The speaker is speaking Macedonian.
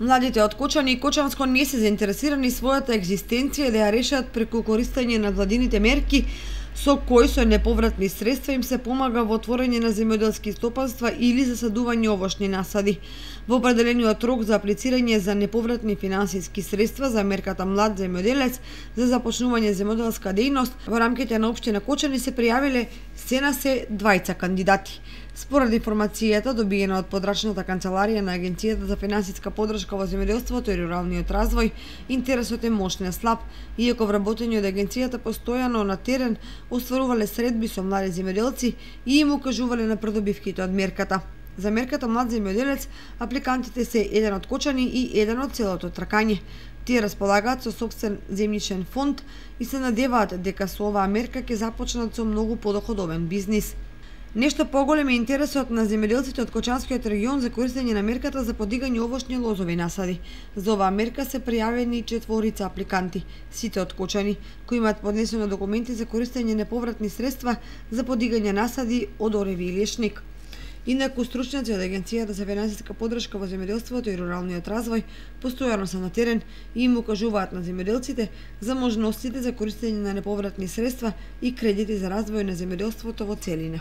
Младите од Кочани и Кочанско не се заинтересирани својата екзистенција да ја решат преку користење на владините мерки со кои со неповратни средства им се помага во отворање на земјоделски стопанства или засадување овошни насади. Во определениот рок за аплицирање за неповратни финансиски средства за мерката Млад земјоделец за започнување земјоделска дејност во рамките на општина Кочани се пријавиле се 20 кандидати. Според информацијата добиена од подрачната канцеларија на Агенцијата за финансиска поддршка во земјоделството и руралниот развој, интересот е мощно слаб, иако вработени од агенцијата постојано на терен остварувале средби со млади земјоделци и им укажувале на придобивките од мерката. За мерката Млад земјоделец апликантите се еден од Кочани и еден од целото Тракање. Тие располагаат со сопствен земјишен фонд и се надеваат дека со оваа мерка ќе започнат со многу подоходовен бизнис. Нешто поголем е интересот на земјоделците од Кочанскиот регион за користење на мерката за подигање овошни лозови насади. За оваа мерка се пријавени 4 апликанти, сите од Кочани, кои имаат поднесено документи за користење неповратни средства за подигање насади од ореви и лешник. Инаку стручњаци од Агенцијата за финансиска поддршка во земјоделството и руралниот развој постојано се на терен и им укажуваат на земјоделците за можностите за користење на неповратни средства и кредити за развој на земјоделството во целина.